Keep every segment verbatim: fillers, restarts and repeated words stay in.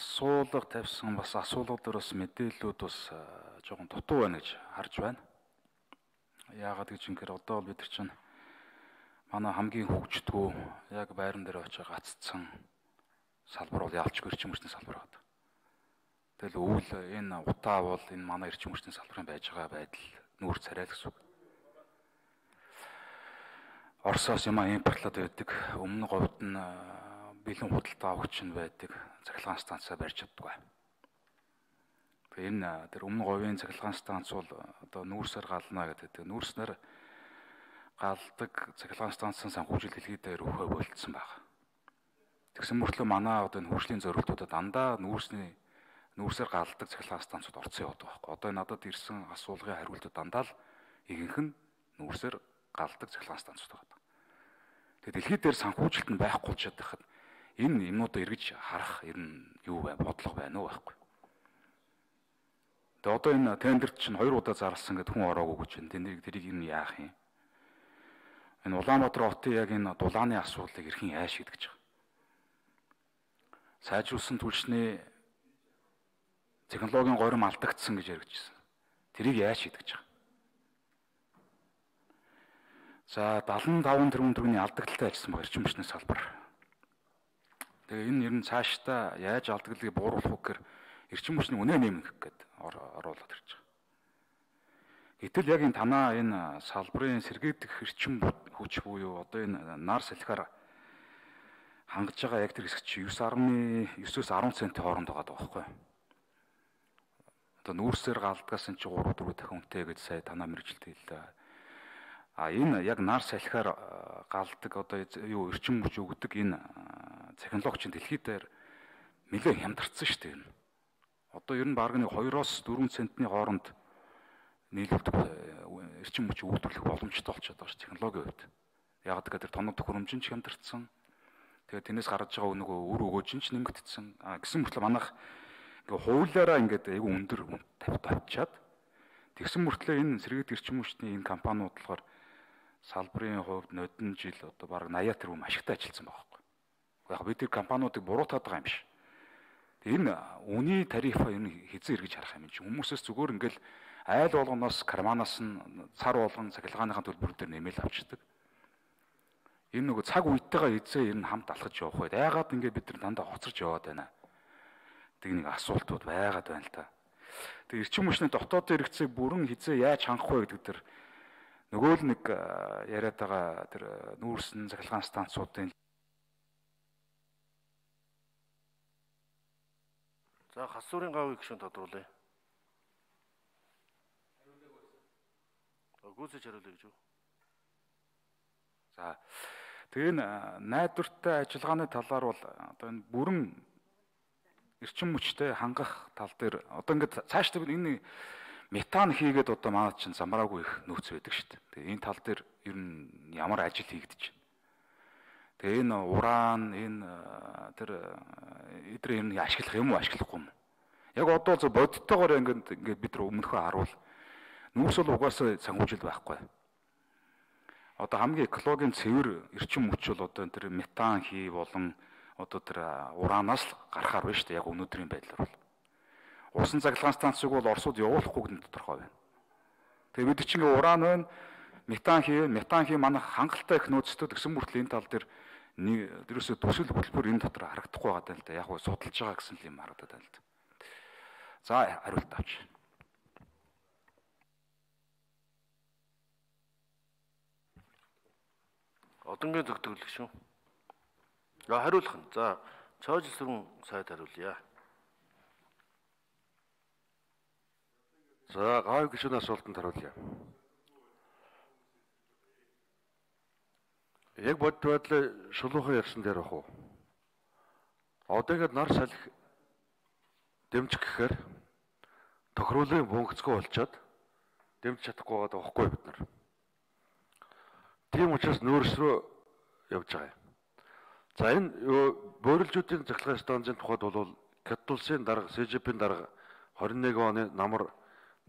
асуулга тавьсан бас асуулгууд бас мэдээллүүд бас жоохон дутуу байна гэж харж байна. Яагаад гэж ингэхээр одоо бол бид нар чинь манай хамгийн хөгждгөө яг байран дээр очиж гаццсан салбар бол ялчгүй эрчим хүчний салбар байдаг. Тэгэл өвөл энэ утаа бол энэ манай эрчим хүчний салбарын байж байгаа байдал нүүр царай л гэсэн үг. Оросоос юм импортлоод байдаг. Өмнө говьд нь бэлэн худалдаа авагч нь байдаг. Цахилгаан станцаа барьж чаддаггүй. Тэгээ энэ тэр өмнө говийн цахилгаан станц бол одоо нүүрсээр гална гэдэг. Нүүрснээр галдаг цахилгаан станцын санхүүжил дэлхийдээр өөхөө болцсон байна. Тэгсэн мөртлөө манай одоо энэ хөгжлийн зорилтуудад дандаа нүүрсний нүүрсээр галдаг цахилгаан станцууд орцсон яваад байгаа байхгүй. Одоо надад ирсэн асуулгын хариултууд дандаа л ихэнх нь нүүрсээр галдаг цахилгаан станцууд байгаа. Тэгээ дэлхийд дээр санхүүжилт нь байхгүй ч чадахад энэ юмнуудаа эргэж харах ер нь юу бай бодлого байна уу байхгүй. Тэгээ одоо энэ тендерт чинь хоёр удаа зарласан гэдэг хүн ороогүй гэж байна. Тэнийг тэрийг юм яах юм? Энэ Улаанбаатар хотын яг энэ дулааны асуудлыг эрхэн яаж шийдэж байгаа? Сайжруулсан түлшний технологийн горим алдагдсан гэж яригдчихсэн. Тэрийг яаж шийдэж байгаа? За дадлан таван тэрбум төгрөгийн алдагдaltaй ажилласан баг эрчим хүчний салбар. Тэгээ энэ ер нь цаашдаа яаж алдагдлыг бууруулах вэ гэхээр эрчим хүчний үнэ нэмэх гэдэг оруулаад ирж байгаа. Гэтэл яг энэ танаа энэ салбарын сэргээгдэх эрчим хүч буюу одоо энэ нар салхиар хангаж байгаа яг тэр хэсэг чи девять нугтаа девять-өөс десять центийн хооронд байгаа байхгүй. Одоо нүүрсээр галдгаас нь чи три дөрөв дахин үнэтэй гэж сая танаа мэрэгжилт хэллээ. А энэ яг нар салхиар галдаг одоо юу эрчим хүч өгдөг энэ технологи чинь дэлхийд дээр нэлээд хямдарсан шүү дээ. Одоо ер нь баг нэг two-оос four центний хооронд нийлүүлдэг эрчим хүч үйлдвэрлэх боломжтой болчиход байгаа ш технологийн хувьд. Яг гэдэг тоног төхөөрөмж нь ч хямдарсан. Тэгээд тэрнээс гарч байгаа нөгөө өр өгөөж нь ч нэмэгдсэн. А гэсэн мөртлөө манайх ингээ хуулиараа ингээд айгүй өндөр тавьд авчаад тэгсэн мөртлөө энэ сэргээгдэх эрчим хүчний энэ компаниуд болохоор салбарын хувьд нодон жил одоо баг eighty тэрбум ашигтай ажилласан байгаа байхгүй. Яг бид тэр компаниудыг буруутаад байгаа юм биш. Энэ үний тарифа энэ хизээ эргэж харах юм чинь хүмүүсээс зүгээр ингээл айл болгоноос карманаас нь цар болгон цахилгааныхаа төлбөр дээр нэмэл авчдаг. Энэ нөгөө цаг үетэйгээ хизээ ер нь хамт алхаж явах байд. Яагаад ингээд бид нар дандаа хоцорч яваад байна. Тэг нэг асуултууд байгаад байна л та. Тэг эрчим хүчний дотоодын хэрэгцээг бүрэн хизээ яаж хангах вэ гэдэг дээр нөгөө л нэг яриад байгаа тэр нүүрсэн цахилгаан станцуудын за хасуурын гавыг гүшүүн тодруулъя. Гүйцэж хариулъя гэж үү? За тэгээ энэ найдвартай ажиллагааны талаар бол одоо энэ бүрэн эрчим хүчтэй хангах тал дээр одоо ингээд цаашдаа энэ метан хийгээд одоо манайд чинь замраагүй их нөөц байдаг шүү дээ. Тэгээ энэ тал дээр ер нь ямар ажил хийгдэж байна. Тэгээ энэ уран энэ тэр эдрээ ер нь ашиглах юм уу ашиглахгүй юм. Яг одоо зөв бодиттойгоор ингээд ингээд бид нар өмнөхөө харуул нүүрс бол угаасаа санхүүжил байхгүй. Одоо хамгийн экологийн цэвэр эрчим хүч бол одоо тэр метан хий болон одоо тэр уранаас л гарахаар байна шүү дээ. Яг өнөөдрийн байдлаар бол. Усан цахилгаан станцыг бол Оросууд явуулахгүй гэдэг тодорхой байна. Тэгээ бид чинь уран байна, метан хий, метан хий манайх хангалттай их нөөцтэй гэсэн мөртлөө энэ тал дээр дээрөөсөө төсөл хөтөлбөр энэ дотор харагдахгүй байгаа даа л да. Яг гоо судалж байгаа гэсэн юм харагдаад байна л да. За хариулт авч. Одонгийн төгтөглөх шүү. За хариулах нь. За чойжл сүрэн сайд хариулъя. За гавь гишүүний асуултанд хариулъя. Яг бодит байдлаа шулуухан ярьсан дээр бах уу? Одоо ингээд нар салхи дэмжих гэхээр тохируулын функцгүй болчоод дэмжиж чадахгүй байгаа байхгүй бид нар. Тийм учраас нөөц рүү явж байгаа юм. За энэ бөөрөлжүүдийн цахилгаан станцын тухайд бол КЭТ улсын дарга, СЖП-ийн дарга twenty-one оны намар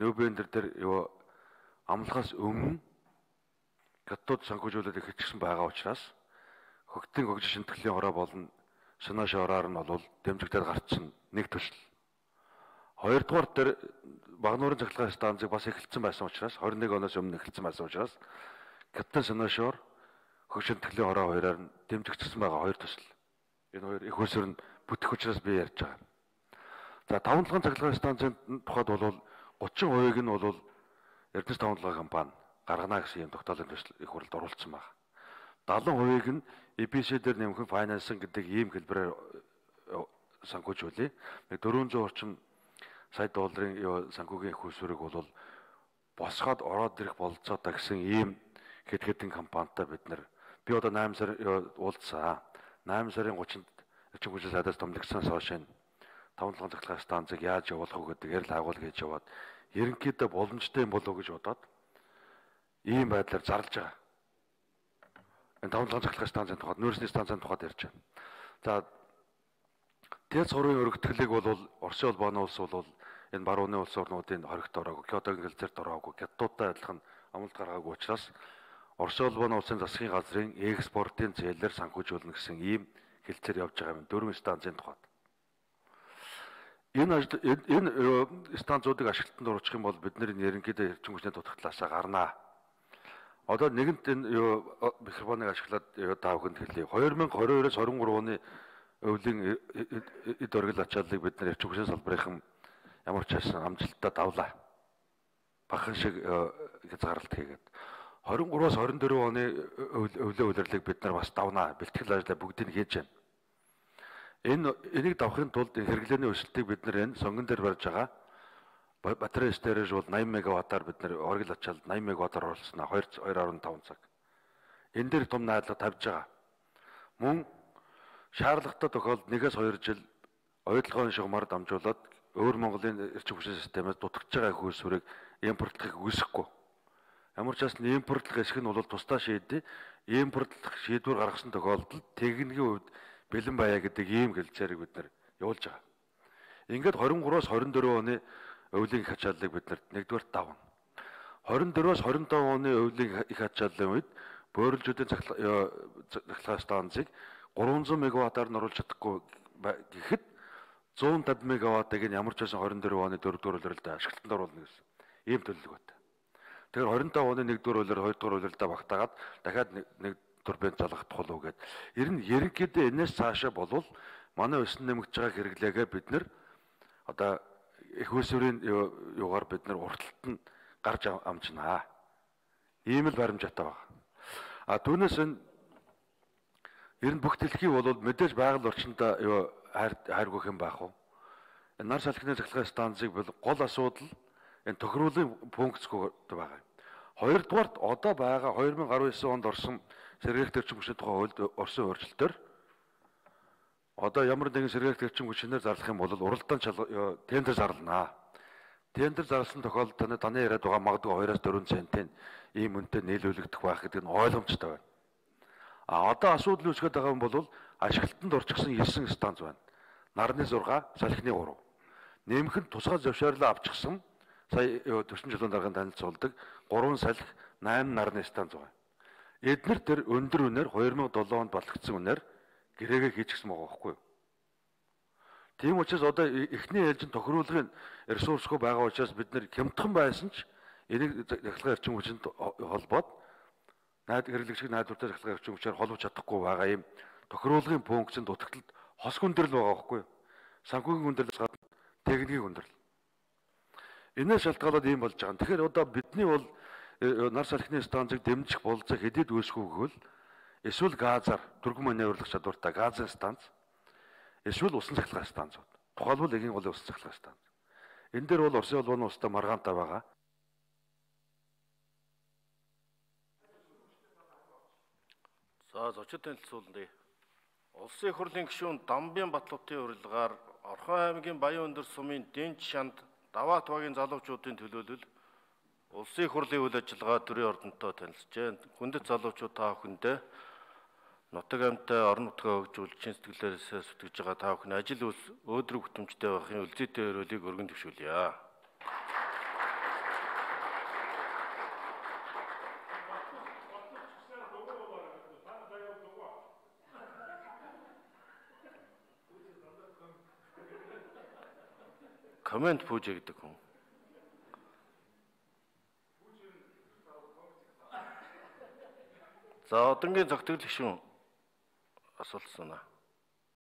Нобелбер дээр юу амлахаас өмнө КЭТ-ууд санхүүжүүлээд эхэлчихсэн байгаа учраас хөгтийн хөгжил шинтгэлийн хороо болон санаашороор нь бол дэмжигдээд гарцсан нэг төсөл. Хоёрдугаар дээр Багнуурын цахилгаан станцыг бас эхэлсэн байсан учраас двадцать один оноос өмнө эхэлсэн байсан учраас Капитан Санаашор хөгжин тэтгэлийн хороо хоёроор нь дэмжигдсэн байгаа хоёр төсөл. Энэ хоёр их усүр нь бүтэх учраас би ярьж байгаа. За таван толгойн цахилгаан станцын тухайд бол thirty percent нь бол Эрдэнэс таван толгой компани гаргана гэсэн юм тогтоолын төсөл их хурлд оруулсан байна. seventy percent нь и пи си дээр нэмэх финансинг гэдэг ийм хэлбэрээр санхүүжүүлээ. Нэг four hundred орчим сая долларын санхүүгийн их усүрийг бол босгоод ороод ирэх бололцоотой гэсэн ийм хэд хэдэн компанитай бид нар би одоо eight сар уулзсан. eight сарын thirty-нд эрчим хүчний сайдаас томлогдсоноос хойш энэ таван толгойн цахилгаан станцыг яаж явуулах вэ гэдэг ярил агуул гэж яваад ерөнхийдөө боломжтой юм болов уу гэж бодоод ийм байдлаар зарлж байгаа. Энэ таван толгойн цахилгаан станцын тухайд, нүүрсний станцын тухайд ярьж байна. За Тэц сурын өргөтгөлийг бол Оросын улбооны улс бол энэ барууны улс орнуудын хоригт ороогүй, Кёотогийн гэлзэрт ороогүй, Гятуудтай адилхан амлалт гаргаагүй учраас Оросын улбооны улсын засгийн газрын экспортын зээлээр санхүүжүүлнэ гэсэн ийм хэлцээр явж байгаа юм дөрвөн станцын тухайд. Энэ энэ станцуудыг ашиглалтанд оруулах юм бол бид нэр ерөнхийдөө эрчим хүчний дутагдлаасаа гарнаа. Одоо нэгэнт энэ микрофоныг ашиглаад та бүхэнд хэлье. twenty twenty-two-оос twenty-three оны өвлийн эд оргил ачааллыг бид нэр эрчим хүчний салбарын ямар ч байсан амжилттай давлаа. Бахан шиг хязгаарлалт хийгээд twenty-three-оос twenty-four оны өвлийн улирлыг бид нар бас давнаа. Бэлтгэл ажлаа бүгдийг хийж байна. Энэ энийг давахын тулд хэрэглээний өсөлтийг бид нар энэ сонгон дээр барьж байгаа. Батарей стейрэж бол eighty мегаваттаар бид нар оргил ачаалд eighty мегаваттаар оруулснаа two point five цаг. Энэ дээр том найдлага тавьж байгаа. Мөн шаардлагатай тохиолдолд one-ээс two жил ойдлогын шугамар дамжуулаад өөр Монголын эрчим хүчний системээс дутагдж байгаа их усүрийг импортлохыг үүсэхгүй. Ямар ч бас импортлох эсэх нь бол тусдаа шийдээ. Импортлох шийдвэр гаргасан тохиолдолд техникийн хувьд бэлэн байя гэдэг ийм хэлцээрийг бид нар явуулж байгаа. Ингээд twenty-three-оос twenty-four оны өвлийн их ачааллыг бид нар нэгдүгээр давна. twenty-four-оос twenty-five оны өвлийн их ачааллын үед бөөрөлжүүдийн цахилгаан станцыг three hundred мегаваттаар нь оруулж чадахгүй гэхэд one hundred fifty мегаваттыг нь ямар ч байсан twenty-four оны дөрөвдүгээр улирлаа ашиглалтанд оруулна гэсэн ийм төлөв байна. Тэгэхээр twenty-five оны нэгдүгээр улир хоёрдугаар улирлаа багтаагаад дахиад нэг турбин залгах тухал үгээд ер нь ерөнхийдөө энэс цаашаа болвол манай өсөн нэмэгдэж байгаа хэрэглээгээ бид нэр одоо их усүрийн юугаар бид нар урталт нь гарч амжнаа. Ийм л баримжаатай байна. А түүнээс энэ ер нь бүх дэлхий бол мэдээж байгаль орчиндөө юу хайргүйх юм байх уу? Энэ нар салхины цахилгаан станцыг бол гол асуудал энэ тохируулын функцгүй байгаа. Хоёрдугаарт одоо байгаа twenty nineteen онд орсон сэргээх эрчим хүчний тухай хуульд орсон өөрчлөлтөөр одоо ямар нэгэн сэргээх эрчим хүчнээр зарлах юм бол уралдаан тендер зарлана. Тендер зарласан тохиолдолд таны таны яриад байгаа магадгүй two-аас four центийн ийм үнэтэй нийлүүлэгдэх байх гэдэг нь ойлгомжтой байна. А одоо асуудал үүсгэж байгаа юм бол ашиглалтанд орчихсон nine станц байна. Нарны six, салхины three. Нэмэх нь тусгай зөвшөөрлөө авчихсан сая төрсөн жилийн дараагийн танилцуулдаг three салхи, eight нарны станц байна. Эднэр тэр өндөр үнээр twenty oh seven онд болгогдсон үнээр гэрээгээ хийчихсэн байгаа байхгүй юу? Тийм учраас одоо эхний ээлжин тохируулгын ресурсгүй байгаа учраас бид нэр хямдхан байсан ч энийг цахилгаан эрчим хүчинд холбоод найд хэрэглэгчийг найдвартай цахилгаан эрчим хүчээр холбож чадахгүй байгаа юм тохируулгын функцэнд дутагдлалд хос хүндрэл байгаа байхгүй юу? Санхүүгийн хүндрэлээс гадна техникийн хүндрэл. Энээс шалтгаалаад ийм болж байгаа. Тэгэхээр одоо бидний бол нар салхины станцыг дэмжих болцоо хэдийд үүсэхгүй гэвэл эсвэл газар түргэн маневрлах чадвартай газын станц эсвэл усан цахилгаан станцууд. Тухайлбал эгийн голын усан цахилгаан станц. Энэ дээр бол Оросын улбооны улстай маргаантай байгаа. За зочид танилцуулна. Улсын их хурлын гишүүн Дамбын Батлуутын урилгаар Орхон аймгийн Баян өндөр сумын Дэнч шанд Даваат багийн залуучуудын төлөөлөл Улсын их хурлын үйл ажиллагаа төрийн ордонтой танилцжээ. Хүндэт залуучууд та бүхэндээ нутаг амьтаа орон нутгаа хөгжүүлж чин сэтгэлээрээ сүтгэж байгаа та бүхэн ажил үйл өөдрөг бүтэмжтэй байхын үлзийтэй өрөөлийг өргөн төвшүүлье. комент пүүжэ гэдэг хүн. За одонгийн цогтгол гишүүн асуулт санаа.